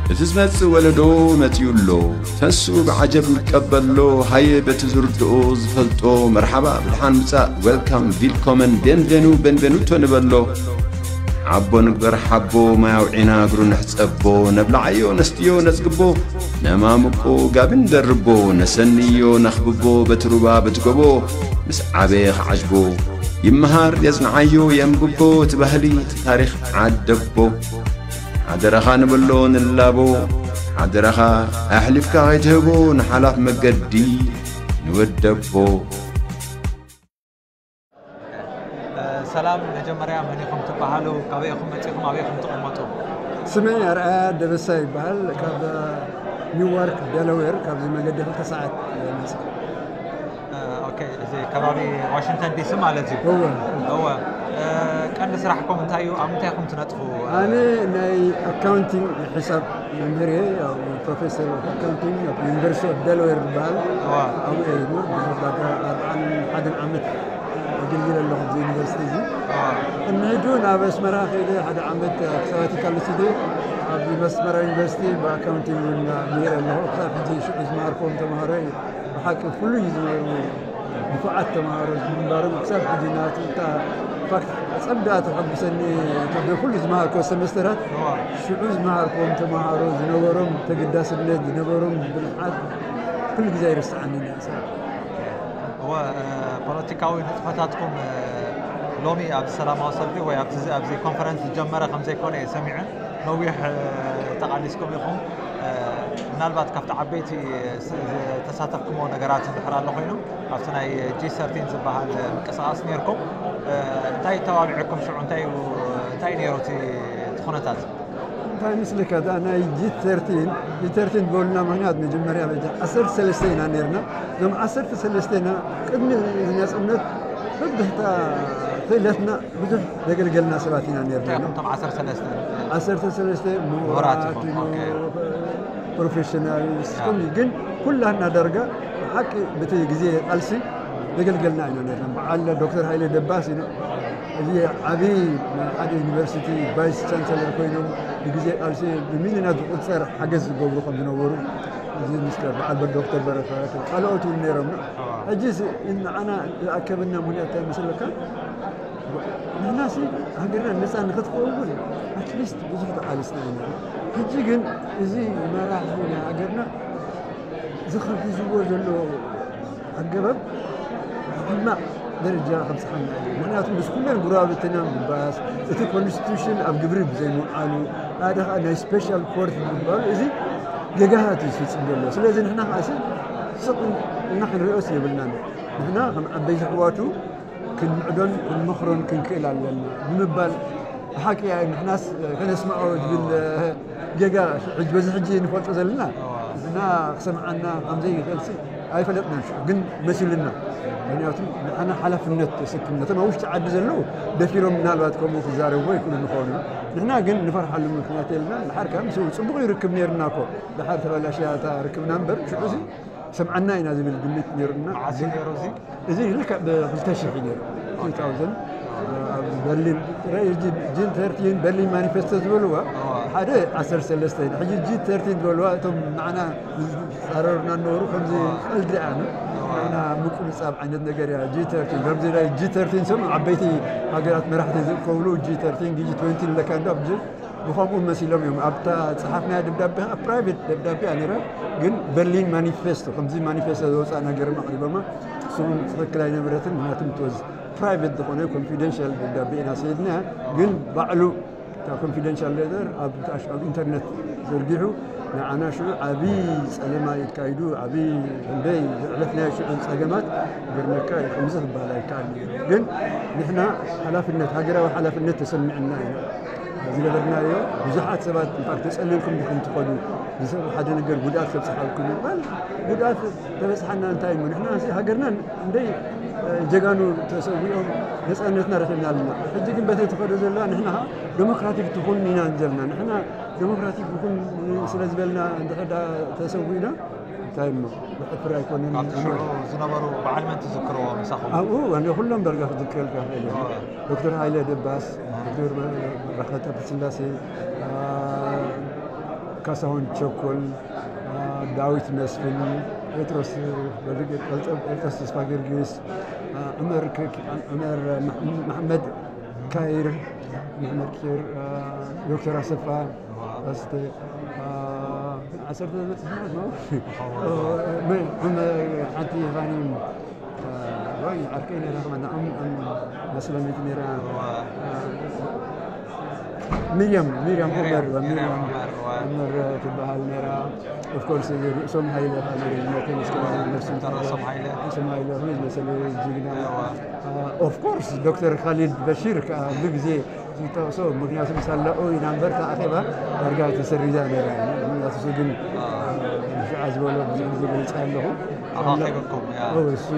እቲ ዝመጽእ ወለዶ መጺኡ ኣሎ። ተንሱ ብዓጀብ ንቀበሎ፣ ሃየ በቲ ዝርድኦ ዝፈልጦ፣ መርሓባ ብድሓን ምጻእ፣ ዌልካም፣ ቪልኮመን፣ ቤንቬኑ፣ ቤንቬኑቶ ንበሎ። ዓቦ ንግበር ሓቦ፣ ማይ ኣውዒና እግሩ ንሕጸቦ፣ ነብልዓዮ ነስትዮ ነጽግቦ፣ ነማምቆ ጋቢ ንደርቦ፣ ነሰንዮ ነኽብቦ፣ በቲ ሩባ በቲ ጎቦ፣ ምስ ዓበየ ክዓጅቦ። ይመሃር የጽንዓዮ የንብቦ፣ እቲ ባህሊ እቲ ታሪኽ ዓደቦ። ሓደራኻ ንብሎ ንላቦ፣ ሓደራኻ ኣሕሊፍካ ከይትህቦ ንሓላፍ መገዲ ንወደቦ። ሰላም፣ መጀመርያ መን ኢኹም ትበሃሉ? ካበይ ኢኹም መጺኹም? ኣበይ ኢኹም ትቕመጡ? ስመይ ኣርኣያ ደበሳ ይበሃል። ካብ ኒውዋርክ ደለዌር፣ ካብዚ መገዲ ክልተ ሰዓት መጽእ። ኦኬ፣ እዚ ከባቢ ዋሽንግተን ዲሲ ማለት እዩ። እወ። እወ። ቀንዲ ስራሕኩም እንታይ እዩ? ኣብ ምንታይ ኢኹም ትነጥፉ? ኣነ ናይ ኣካውንቲንግ፣ ሒሳብ መምህር እየ። ያው ፕሮፌሰር ኦፍ ኣካውንቲንግ ኣብ ዩኒቨርሲቲ ኦፍ ደለዌር ዝበሃል እወ። ኣብኡ እየ ዝምህር። ብዙሕ ዳጋ ኣርብዓን ሓደን ዓመት ኣገልግል ኣለኹ ኣብዚ ዩኒቨርሲቲ እዚ። እወ። ቅድሚ ሕጂ ናብ ኣስመራ ከይደ ሓደ ዓመት ኣብ ሳባቲካል ወሲደ ኣብ ኣስመራ ዩኒቨርሲቲ ብኣካውንቲንግ እውን ምሂረ ኣለኹ። ክሳብ ሕጂ ሽዑ ዝመሃርክዎም ተምሃሮ ብሓቂ ፍሉይ ዝነበሩ ንፉዓት ተምሃሮ ምንባሮም ክሳብ ሕጂ ናቱ እታ ፋክት ጸብዳ ተሐጉሰኒ። ካብ ኩሉ ዝመሃርክዎ ሰመስተራት ሽዑ ዝመሃርክዎም ተምሃሮ ዝነበሮም ተገዳስነት ዝነበሮም ብልሓት ኩሉ ግዜ ኣይርስዓንን እያ። እወ፣ ፖለቲካዊ ንጥፈታትኩም ሎሚ ኣብዚ ሰላማዊ ሰልፊ ወይ ኣብዚ ኣብዚ ኮንፈረንስ ዝጀመረ ከም ዘይኮነ እየ ሰሚዐ። ነዊሕ ተቓሊስኩም ኢኹም። ምናልባት ካብቲ ዓበይቲ ዝተሳተፍኩምዎ ነገራት እንድሕር ኣሎ ኮይኑ ኣብቲ ናይ ጂ ሰርቲን ዝበሃል ምንቅስቓስ ነይርኩም። እንታይ ተባቢዕኩም ሽዑ? እንታይ እዩ እንታይ ነይሩ እቲ እቲ ኩነታት? እንታይ ምስልካ እዛ ናይ ጂ ሰርቲን ጂ ሰርቲን ዝበሉና ምክንያት መጀመርያ በጃ ዓሰርተ ሰለስተ ኢና ነርና። እዞም ዓሰርተ ሰለስተ ኢና ቅድሚ እዚ ነፅነት በብሕታ ክእለትና ብዙሕ ዘገልገልና ሰባት ኢና ነርና። እቶም ዓሰርተ ሰለስተ ዓሰርተ ሰለስተ ምሁራት ምሁራት ኢኹም፣ ኦኬ። ፕሮፌሽናል ስኹም ግን ኩላና ዳርጋ ሓቂ በቲ ግዜ ቃልሲ ዘገልገልና ኢና ነርና። በዓል ዶክተር ሃይለ ደባስ ኢና እዚ ዓብዪ ናይ ሓደ ዩኒቨርሲቲ ቫይስ ቻንሰለር ኮይኖም ብግዜ ቃልሲ ብሚልዮናት ዝቑፀር ሓገዝ ዝገብሩ ከም ዝነበሩ እዚ ምስ በዓል ዶክተር በረከት ካልኦት እውን ነይሮም። ሕጂ ንዓና ዝኣከበና ምክንያት እንታይ መስለካ? ንሕና ሲ ሃገርና ነፃ ንክትከውን ኣትሊስት ብዙሕ ተቃሊስና ኢና። ሕጂ ግን እዚ መራሒ ናይ ሃገርና ዝኸፊዝዎ ዘሎ ኣገባብ ሕማቕ ደረጃ ከብፅሓና እዩ። ምክንያቱ ምስ ኩለን ጉራብትና ምባስ እቲ ኮንስቲቱሽን ኣብ ግብሪ ብዘይምውዓሉ ሓደ ከዓ ናይ ስፔሻል ኮርት ምባሉ እዚ ገጋሃት እዩ ዝፍፅም ዘሎ። ስለዚ ንሕና ከዓ ሲ ስቕ እና ክንሪኦስ የብልናን። ንሕና ከም ዓበይቲ ኣሕዋቱ ክንምዕዶን ክንመኽሮን ክንክእል ኣለና ብምባል ብሓቂ ንሕናስ ከነስምዖ ዝብል ጌጋ ሕጂ በዚ ሕጂ ንፈልጦ ዘለና ንሕና ክሰምዓና ከምዘይኽእልሲ ኣይፈለጥናን። ሽዑ ግን መሲሉና። ምክንያቱ ንዓና ሓላፍነት ተሰኪምና እቶም ኣብ ውሽጢ ዓዲ ዘለዉ ደፊሮም ምናልባት ከምኡ ክዛረብዎ ይኽእሉ ንኸውን። ንሕና ግን ንፈርሓሉ ምክንያት የልና። ድሓር ከዓ ምስ ፅቡቕ እዩ ርክብ ነይርና እኮ ድሓር ተበላሽያ እታ ርክብና እምበር ሽዑ እዚ ሰምዓና ኢና ዝብል ግምት ነይሩና። መዓስ እዩ ነይሩ እዚ? እዚ ልክዕ ብ ክልተ ሽሕ እዩ ነይሩ። two thousand ኣብ በርሊን ጂ ሰርቲን በርሊን ማኒፌስቶ ዝበልዋ ሓደ ዓሰርተ ሰለስተ ኢና። ሕጂ ጂ ሰርቲን ዝበልዋ እቶም ንዓና ዝፃረሩና ነበሩ ከምዚ ቀልዲ ኣነ ንዓና ምቁንፃብ ዓይነት ነገር እያ። ጂ ሰርቲን ከምዚ ናይ ጂ ሰርቲን ሰብ ዓበይቲ ሃገራት መራሕቲ ዝእከብሉ ጂ ሰርቲን ጂ ትወንቲ ንለካ እንዶ ኣብ ጂ ብኸምኡ መሲሎም እዮም ኣብታ ፀሓፍናያ ደብዳቤ ፕራይቬት ደብዳቤ እያ ነይራ። ግን በርሊን ማኒፌስቶ ከምዚ ማኒፌስቶ ዘውፃእና ገይሮም ኣቕሪቦማ። እሱ እውን ትኽክል ኣይነበረትን። ምክንያቱ ምትወዝ ፕራይቬት ዝኾነ ኮንፊደንሻል ደብዳቤ ኢና ሰይድናያ። ግን ባዕሉ እታ ኮንፊደንሻል ሌተር ኣብ ኢንተርነት ዘርጊሑ ንዓና ሽዑ ዓብዪ ፀለማ እዩ ተካይዱ። ዓብዪ ክንደይ ዘዕለፍናዮ ሽዑ ፀገማት ገርመካ እዩ። ከምዚ ክበሃል ኣይከኣል ነይሩ። ግን ንሕና ሓላፍነት ሃገራዊ ሓላፍነት ተሰሚዕና ኢና ዝገበርናዮ። ብዙሓት ሰባት ኢንፋክት ተፀሊልኩም ዲኹም ትኸዱ ንሰብ ሓደ ነገር ጉድኣት ከብፅሓልኩም ይባል። ጉድኣት ተበፅሓና እንታይ እሞ ንሕና ሃገርና እንደይ ጀጋኑ ተሰዊኦም ነፃነትና ረኺብና ኣለና። ሕጂ ግን በተይ ትኸዶ ዘለዋ ንሕና ዴሞክራቲክ ትኹን ኢና ዘለና። ንሕና ዴሞክራቲክ ይኹን ስለ ዝበልና እንድሕር ደኣ ተሰዊእና እንታይ እሞ ዘሕፍር ኣይኮነን። ኣብቲ ሽዑ ዝነበሩ በዓል መን ትዝክርዎ ምሳኹም? ኣብኡ ኣነ ኩሎም ዳርጋ ክዝክረልካ ይኽእል እየ። ዶክተር ሃይለ ደባስ፣ ዶክተር በረኸት ሃብተስላሴ፣ ካሳሁን ቸኮል፣ ዳዊት መስፍን፣ ጴጥሮስ ጴጥሮስ ተስፋ ጊዮርጊስ፣ ዑመር ዑመር መሓመድ ካይር፣ መሓመድ ኪር፣ ዶክተር ኣሰፋ ኣስተ ዓሰርተ ዓሰርተ ሓንቲ ይኻኒ ወይ ዓርከይ ነራ ከማን ኣም ኣም መስለሚት ነራ ሚርያም ሚርያም ዑመር ሚርያም ዑመር ትበሃል ነራ። ኦፍኮርስ ርእሶም ሃይለ ነፍስም ሃይለ ርእሶም ሃይለ ዝመሰለ ጅግና። ኦፍኮርስ ዶክተር ካሊድ በሺር ከዓ ብግዜ ዝጠቕሶ ምክንያቱ ሳላኡ ኢና እምበር ኣኼባ ዳርጋ ተሰሪዛ ነራ። ምክንያቱ እሱ ግን ሽዓ ዝበሎ ብዙሕ ግዜ ገልፀ ኣለኹ። ኣባኺበኩም እሱ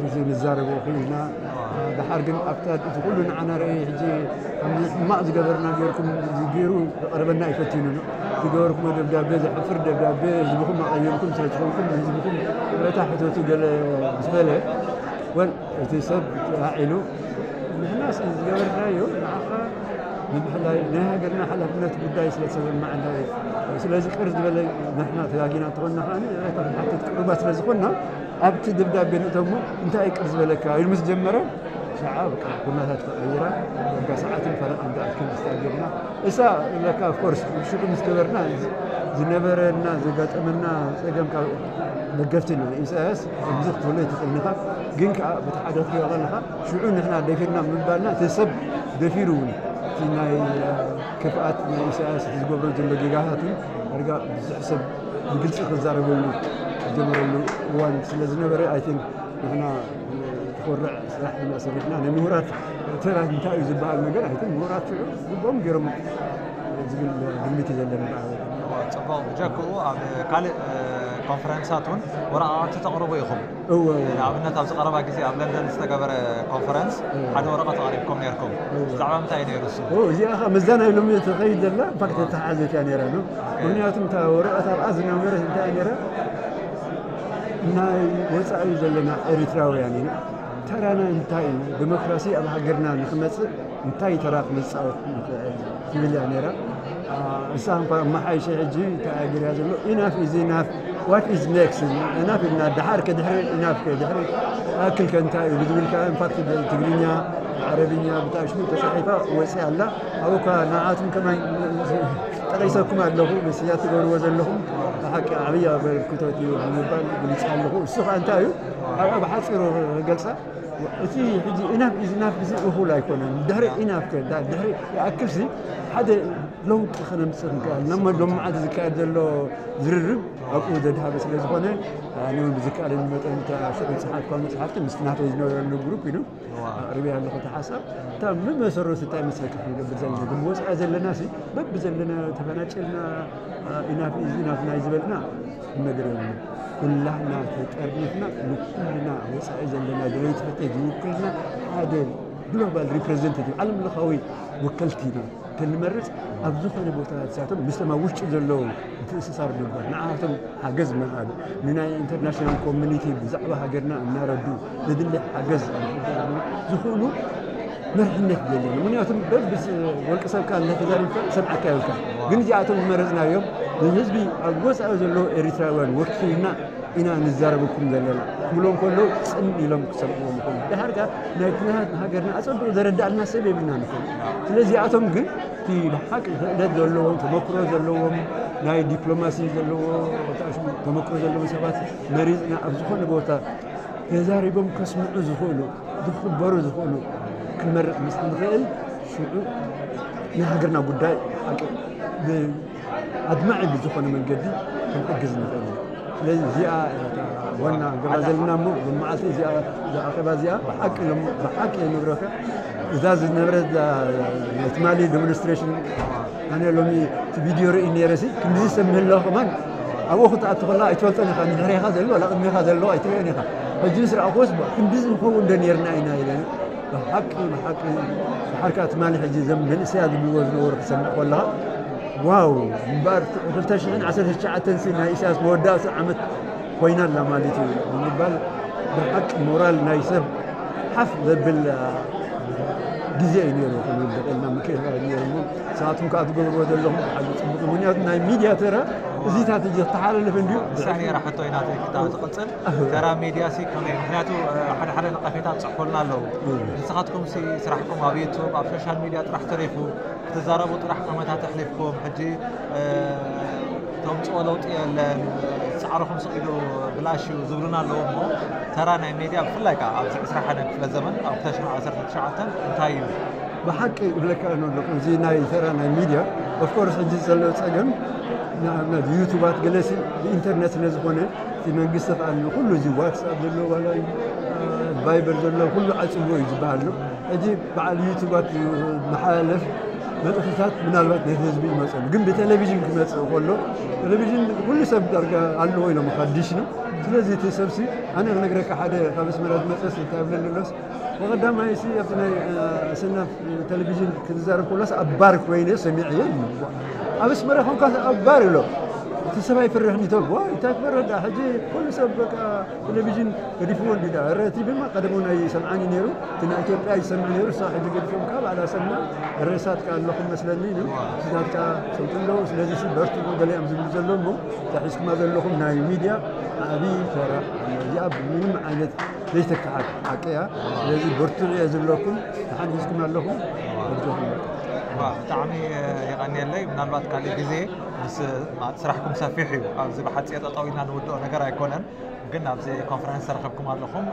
ግዜ ንዛረቦ ክኢልና። ድሓር ግን ኣብታ እቲ ኩሉ ንዓና ርኢ ሕጂ ሕማቕ ዝገበርና ገርኩም ገይሩ ዝቐረበና ኣይፈትኑ። ዝገበርኩሞ ደብዳቤ ዘሕፍር ደብዳቤ ህዝብኹም ኣቐየምኩም ስለ ዝኾንኩም ህዝብኹም ረታ ሕተቱ ገለ ምስ በለ ወል እቲ ሰብ ተላዒሉ ንሕና ዝገበርናዮ ንዓኻ ንምሕላይ ናይ ሃገርና ሓላፍነት ጉዳይ ስለ ተሰማዓና እዩ። ስለዚ ቅር ዝበለ ንሕና ተጋጊና እንተኾንና ከዓ ንሓትት ቅሩባት ስለ ዝኾንና ኣብቲ ደብዳቤ ንእተሞ እንታይ እዩ ቅር ዝበለካ ኢሉ ምስ ጀመረ ሸዓ ኩነታት ተቐይራ ጋ ሰዓትን ፈረቓን ዝኣክል ስታዲዮምና እሳ ለካ ኦፍኮርስ ሽዑ ምስ ገበርና ዝነበረና ዘጋጠመና ፀገም ካብ ደገፍቲ ኢና ኢሳያስ ብዙሕ ክትብሎ ኣይትኽእልን ኢኻ። ግን ከዓ በቲ ሓደ ክትሪኦ ከለኻ ሽዑ ንሕና ደፊርና ምባልና እቲ ሰብ ደፊሩ እውን እቲ ናይ ክፍኣት ናይ ኢሳያስ እቲ ዝገብሮ ዘሎ ጌጋታት እውን ዳርጋ ብዙሕ ሰብ ብግልፂ ክዛረበሉ ዝጀመረሉ እዋን ስለ ዝነበረ ኣይ ቲንክ ንሕና ትኾርዕ ስራሕ ኢና ሰሪሕና ናይ ምሁራት ተራ እንታይ እዩ ዝበሃል ነገር ኣይ ቲንክ ምሁራት ሽዑ ልቦም ገይሮም ዝብል ግምት እዩ ዘለኒ። ፅቡቕ ብጀክኡ ኣብ ካልእ ኮንፈረንሳት እውን ወረቃቕቲ ተቕርቡ ኢኹም። እወ እወ። ንኣብነት ኣብዚ ቀረባ ግዜ ኣብ ለንደን ዝተገበረ ኮንፈረንስ እወ። ሓደ ወረቐት ኣቕሪብኩም ነርኩም። እወ። ብዛዕባ ምንታይ እዩ ነይሩ እሱ? እወ፣ እዚኣ ኸ መዛናይ ሎሚ ትኸይድ ዘላ ኢንፋክት ተተሓዘት እያ ነይራ ነው። ምክንያቱም እታ ወረቐት ኣብኣ ዝነበረት እንታይ እያ ነይራ ናይ ወፃኢ ዘለና ኤሪትራውያን ኢና። ተራና እንታይ እዩ? ዴሞክራሲ ኣብ ሃገርና ንክመፅእ እንታይ ተራ ክንፃወት ንኽእል ትብል እያ ነይራ። እሳ እንኳ መሓይሸ ሕጂ እንታይ እያ ገይራ ዘሎ ኢናፍ ኢዝ ኢናፍ ዋት ኢዝ ኔክስት ኢናፍ ኢልና ደሓር ከድሕሪ ኢናፍ ከድሕሪ ኣክል ከ እንታይ እዩ ብዝብል ከዓ ኢንፋክት ትግርኛ ዓረብኛ ብጣዕሽሙ ተፃሒፋ ወፂኣ ኣላ። ኣብኡ እኳ ንዓኣትኩም ከማይ ጠቒሰኩም ኣለኹ ምስያ ትገብርዎ ዘለኹም ብሓቂ ዓብዪ ኣበርክቶት እዩ ብምባል ግልፂ ኣለኹ። እሱ ከዓ እንታይ እዩ ኣብኣ ብሓፂሩ ክገልፃ እቲ ሕጂ ኢናፍ ኢዝ ኢናፍ እዚ እኹል ኣይኮነን። ድሕሪ ኢናፍ ከ ድሕሪ ይኣክልሲ ሓደ ለውጢ ከነምፅእ ንክእል ነሞ ሎም መዓልቲ ዝካየድ ዘሎ ዝርርብ ኣብኡ ዘድሃበ ስለ ዝኾነ ኣነ እውን ብዝከኣለኒ መጠን እታ ሽዑ ዝፀሓፍካ መፅሓፍቲ ምስቲ ናተይ ዝነበረሉ ግሩፕ ኢሉ ኣቕሪበያ ኣለኹ እቲ ሓሳብ እታ ብመሰረቱ እንታይ መስለካ ክንገብር ዘለና ግን ወፃኢ ዘለና ሲ በቢ ዘለና ተፈናጨልና ኢናፍ ኢዝ ኢናፍ ናይ ዝበልና ነገር የብሉ። ኩላህና ተጠርኒፍና ንኩልና ወፃኢ ዘለና ደለይቲ ፍትሒ ዝውክልና ሓደ ግሎባል ሪፕሬዘንታቲቭ ዓለም ለኻዊ ወከልቲ ኢና። ከንመርፅ ኣብ ዝኾነ ቦታ ንሳቶም ምስቶም ኣብ ውሽጢ ዘለዉ ምትእስሳር ምግባር ንዓቶም ሓገዝ ምሃብ ንናይ ኢንተርናሽናል ኮሚኒቲ ብዛዕባ ሃገርና እናረዱ ዘድሊ ሓገዝ ዝኽእሉ መርሕነት የለን። ምክንያቱም በብወልቂ ሰብካ እናተዛሪብካ ሰምዓካ ይብልካ። ግን እዚኣቶም ዝመረፅናዮም ንህዝቢ ኣብ ወፃኢ ዘለዉ ኤሪትራውያን ወኪልና ኢና ንዛረበኩም ዘለና ክብሎም ከለዉ ፅን ኢሎም ክሰምዕዎም ይኽእሉ። ድሓር ከኣ ናይ ኩነታት ሃገርና ኣፀቢቑ ዘረዳእልና ሰብ የብልናን ይኽእሉ። ስለዚ እዚኣቶም ግን እቲ ብሓቂ ክእለት ዘለዎም ተመክሮ ዘለዎም ናይ ዲፕሎማሲ ዘለዎ ተመክሮ ዘለዎም ሰባት መሪፅና ኣብ ዝኾነ ቦታ ተዛሪቦም ከስምዑ ዝኽእሉ ዝኽበሩ ዝኽእሉ ክንመርፅ ምስ ንኽእል ሽዑ ናይ ሃገርና ጉዳይ ሓቂ ኣድማዒ ብዝኾነ መንገዲ ክንሕግዝ ንኽእል ኢና። ስለዚ እዚኣ ዋና ገባ ዘለና እሞ መዓልቲ እዚኣ ኣኼባ እዚኣ ብሓቂ ብሓቂ የንብረካ እዛ ዝነበረት ትማሊ ዴሞንስትሬሽን ኣነ ሎሚ እቲ ቪድዮ ርኢ ነይረ ሲ ክንድዚ ሰብ ምህላው ከማን ኣብኡ ክትኣቱ ከለካ ኣይትፈልጦን ኢኻ ንድሕሬኻ ዘሎ ዋላ ቅድሜኻ ዘሎ ኣይትርእዮን ኢኻ ሕጂ ዝረኣኹዎስ ክንድዚ ንኸውን ዶ ነርና ኢና ኢለ ብሓቂ ብሓቂ ብሓርካ ትማሊ ሕጂ ዘም መንእሰያ ዝብልዎ ዝነበሩ ክሰምዕ ከለኻ ዋው እምበኣር ክልተ ሽሕን ዓሰርተ ትሽዓተን ሲ ናይ ኢሳያስ መወዳእቲ ዓመት ኮይና ኣላ ማለት እዩ ብምባል ብሓቂ ሞራል ናይ ሰብ ሓፍ ዘብል ግዜ እዩ ነይሩ። ከምኡ ደቀልና ምክእላ ነይሩ። ንስኻትኩም ከዓ ትገብርዎ ዘለኹም ብሓቂ ጽቡቕ እዩ። ምኽንያቱ ናይ ሚድያ ተራ እዚታት እዩ ዝተሓላለፈ እንድዩ። ንሳ ነይራ ሕቶ ኢና ክታብ ዝቕጽል። ተራ ሚድያ ሲ ከመይ? ምኽንያቱ ሓደ ሓደ ነቐፌታት ጽሕፉልና ኣለዉ። ንስኻትኩም ሲ ስራሕኩም ኣብ ዩቱብ ኣብ ሶሻል ሚድያ ጥራሕ ተሪፉ ክትዛረቡ ጥራሕ ዓመታት ኣሕሊፍኩም ሕጂ ተምፅኦ ለውጢ የለን፣ ፃዕርኹም ስቕ ኢሉ ብላሽ እዩ ዝብሉና ኣለዉ። እሞ ተራ ናይ ሜድያ ብፍላይ ከዓ ኣብዚ ዕስራ ሓደን ክፍለ ዘመን ኣብ ክልተ ሽሕን ዓሰርተ ትሽዓተን እንታይ እዩ? ብሓቂ እብለካ ኣለኹ፣ እዚ ናይ ተራ ናይ ሚድያ ኦፍኮርስ ሕጂ ዘሎ ፀገም ንኣብነት ዩቱባት ገለሲ ብኢንተርነት ስለ ዝኾነ እቲ መንግስቲ ከዓ ንኩሉ እዚ ዋትስኣፕ ዘሎ ዋላ ቫይበር ዘሎ ኩሉ ዓፅዎ እዩ ዝበሃል ነው። ሕጂ በዓል ዩቱባት መሓላለፍ መልእኽትታት ምናልባት ነቲ ህዝቢ ይመፀሉ፣ ግን ብቴሌቪዥን ክመፅእ ከሎ ቴሌቪዥን ኩሉ ሰብ ዳርጋ ኣለዎ ኢሎም ሓድሽ ነው። ስለዚ እቲ ሰብሲ ኣነ ክነግረካ ሓደ ካብ ኣስመራ ዝመፀስ እንታይ ብለኒ ኣሎስ ብቐዳማይ ሲ ኣብቲ ናይ ኣሰና ቴሌቪዥን ክትዛረብ ከሎስ ኣብ ባር ኮይነ ሰሚዐዮ ይብል። ኣብ ኣስመራ ኮንካ ኣብ ባር ኢሎ እቲ ሰብ ኣይፍርሕን ይተብ ዋ እንታይ ክፈርሕ ዳ ሕጂ ኩሉ ሰብ በቃ ቴሌቪዥን ገዲፍዎ እንዲ ዳ ረ ቲቪ ማ ቀደሙ ናይ ሰምዓኒ ነይሩ እቲ ናይ ኢትዮጵያ ይሰምዕ ነይሩ እሳ ሕጂ ገዲፎም ካብ ኣላሰና ርእሳት ከ ኣለኹም መስለኒ ነው ስታትካ ሰምቱ ኣለዉ ስለዚ ሲ በርትዑ ገሊኦም ዝብሉ ዘሎ እሞ ተሒዝኩማ ዘለኹም ናይ ሚድያ ዓብዪ ተራ እዚኣ ብምንም ዓይነት ዘይተካሓድ ሓቂ እያ ስለዚ በርትዑ እየ ዝብለኩም ተሓን ሒዝኩም ኣለኹም ኣጆኹም ብጣዕሚ የቐንየለይ ምናልባት ካሊእ ግዜ ምስ ስራሕኩም ሰፊሕ እዩ ኣብዚ ብሓፂር ጠጠው ኢልና ንውድኦ ነገር ኣይኮነን ግን ኣብዚ ኮንፈረንስ ተረኸብኩም ኣለኹም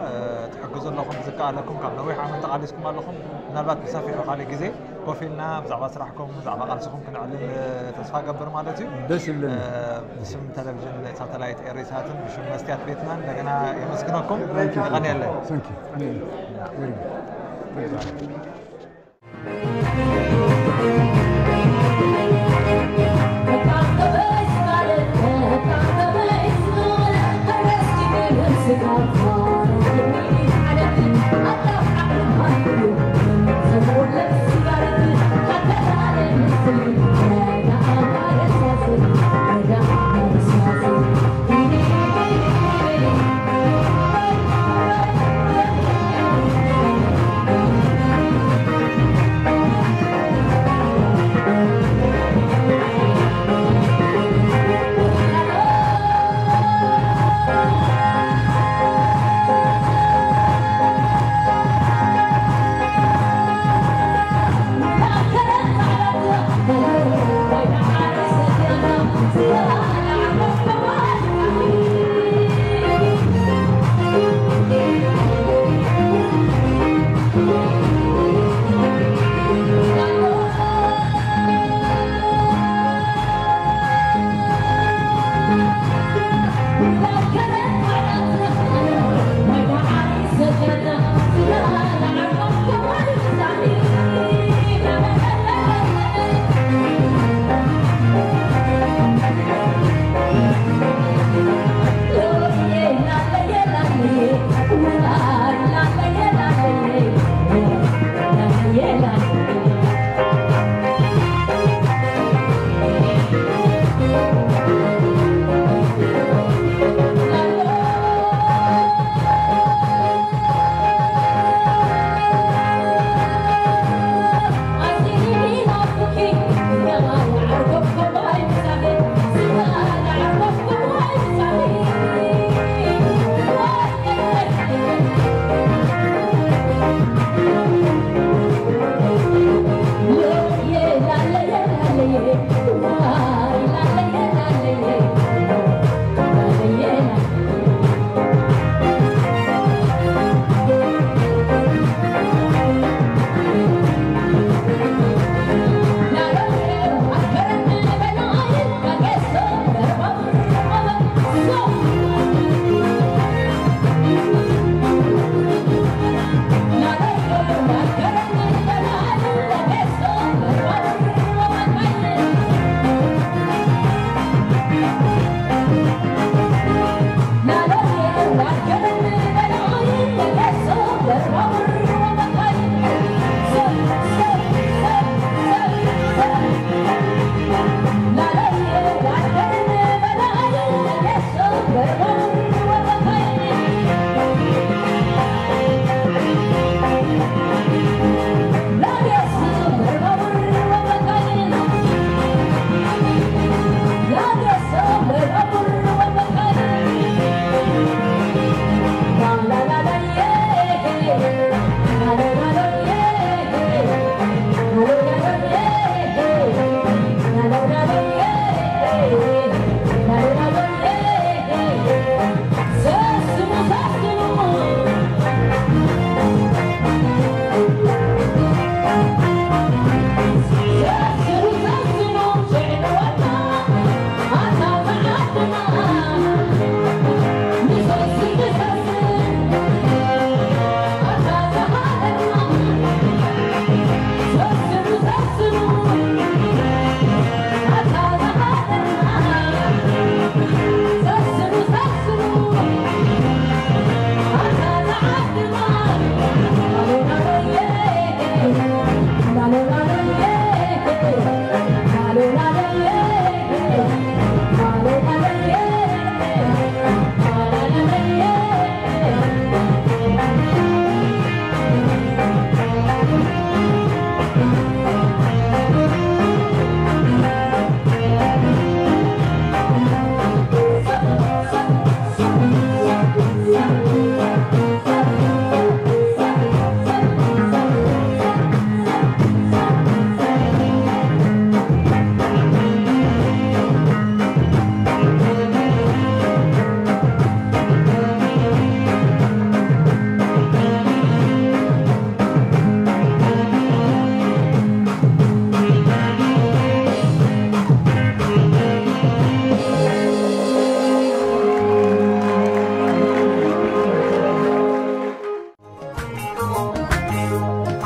ትሕግዙ ኣለኹም ዝከኣለኩም ካብ ነዊሕ ዓመት ተቓሊስኩም ኣለኹም ምናልባት ብሰፊሑ ካልእ ግዜ ኮፍ ኢልና ብዛዕባ ስራሕኩም ብዛዕባ ቃልስኹም ክንዕልል ተስፋ ገብር ማለት እዩ ደስ ይብለኒ ብስም ቴሌቪዥን ሳተላይት ኤሪሳትን ብሽም መስትያት ቤትናን እንደገና የመስግነኩም ይቐንየለን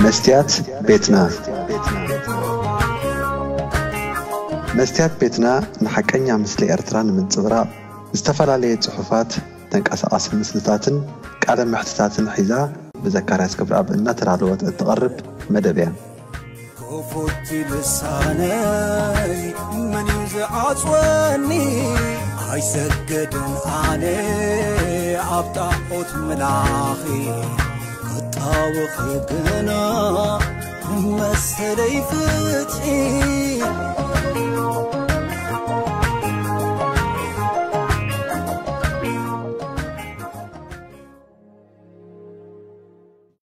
መስትያት ቤትና። መስትያት ቤትና ንሓቀኛ ምስሊ ኤርትራ ንምንጽብራቕ ዝተፈላለየ ጽሑፋት፣ ተንቀሳቓሲ ምስልታትን ቃለ መሕትታትን ሒዛ ብዘካርያስ ክብረኣብ እናተዳለወት እትቐርብ መደብ እያ። ክፉት ልሳነይ መን እዩ ዝዓጽወኒ? ኣይሰገድን ኣነ ኣብ ጣዖት ምላኺ ክጣወኺ ግና መሰለይ ፍትሒ